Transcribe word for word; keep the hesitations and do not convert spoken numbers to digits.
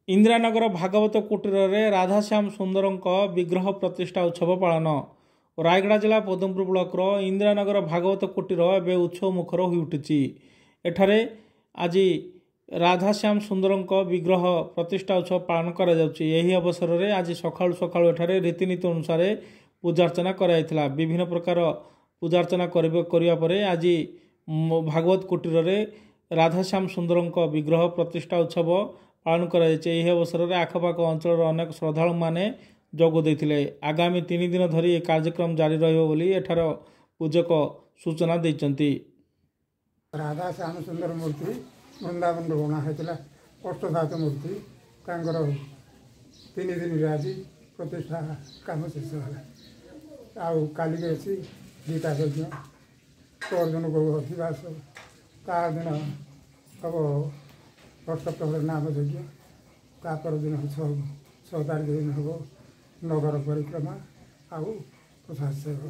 ଇନ୍ଦିରାନଗର ଭାଗବତ କୁଟୀରରେ ରାଧାଶ୍ୟାମ ସୁନ୍ଦରଙ୍କ ବିଗ୍ରହ ପ୍ରତିଷ୍ଠା ଉତ୍ସବ ପାଳନ। ରାୟଗଡ଼ା ଜିଲ୍ଲା ପଦମପୁର ବ୍ଲକର ଇନ୍ଦିରାନଗର ଭାଗବତ କୁଟୀର ଏବେ ଉତ୍ସବ ମୁଖର ହୋଇଉଠିଛି। ଏଠାରେ ଆଜି ରାଧାଶ୍ୟାମ ସୁନ୍ଦରଙ୍କ ବିଗ୍ରହ ପ୍ରତିଷ୍ଠା ଉତ୍ସବ ପାଳନ କରାଯାଉଛି। ଏହି ଅବସରରେ ଆଜି ସକାଳୁ ସକାଳୁ ଏଠାରେ ରୀତିନୀତି ଅନୁସାରେ ପୂଜାର୍ଚ୍ଚନା କରାଯାଇଥିଲା। ବିଭିନ୍ନ ପ୍ରକାର ପୂଜାର୍ଚ୍ଚନା କରିବା ପରେ ଆଜି ଭାଗବତ କୁଟୀରରେ ରାଧାଶ୍ୟାମ ସୁନ୍ଦରଙ୍କ ବିଗ୍ରହ ପ୍ରତିଷ୍ଠା ଉତ୍ସବ ପାଳନ କରାଯାଇଛି। ଏହି ଅବସରରେ ଆଖପାଖ ଅଞ୍ଚଳର ଅନେକ ଶ୍ରଦ୍ଧାଳୁମାନେ ଯୋଗ ଦେଇଥିଲେ। ଆଗାମୀ ତିନି ଦିନ ଧରି ଏହି କାର୍ଯ୍ୟକ୍ରମ ଜାରି ରହିବ ବୋଲି ଏଠାର ପୂଜକ ସୂଚନା ଦେଇଛନ୍ତି। ରାଧା ଶ୍ୟାମ ସୁନ୍ଦର ମୂର୍ତ୍ତି ବୃନ୍ଦାବନରୁ ଅଣା ହେଇଥିଲା, ଅଷ୍ଟଧାତୁ ମୂର୍ତ୍ତି। ତାଙ୍କର ତିନି ଦିନରେ ଆଜି ପ୍ରତିଷ୍ଠା କାମ ଶେଷ ହେଲା। ଆଉ କାଲିକି ଅଛି ଗୀତା ଯଜ୍ଞ, ପରଦିନ ଗୋ ଅଧିବାସ, ତା ଦିନ ହେବ ଅଷ୍ଟପ୍ରହର ନାମ ଯଜ୍ଞ, ତା ପରଦିନ ଛଅ ଛଅ ତାରିଖ ଦିନ ହେବ ନଗର ପରିକ୍ରମା ଆଉ ପ୍ରସାଦ ସେବନ।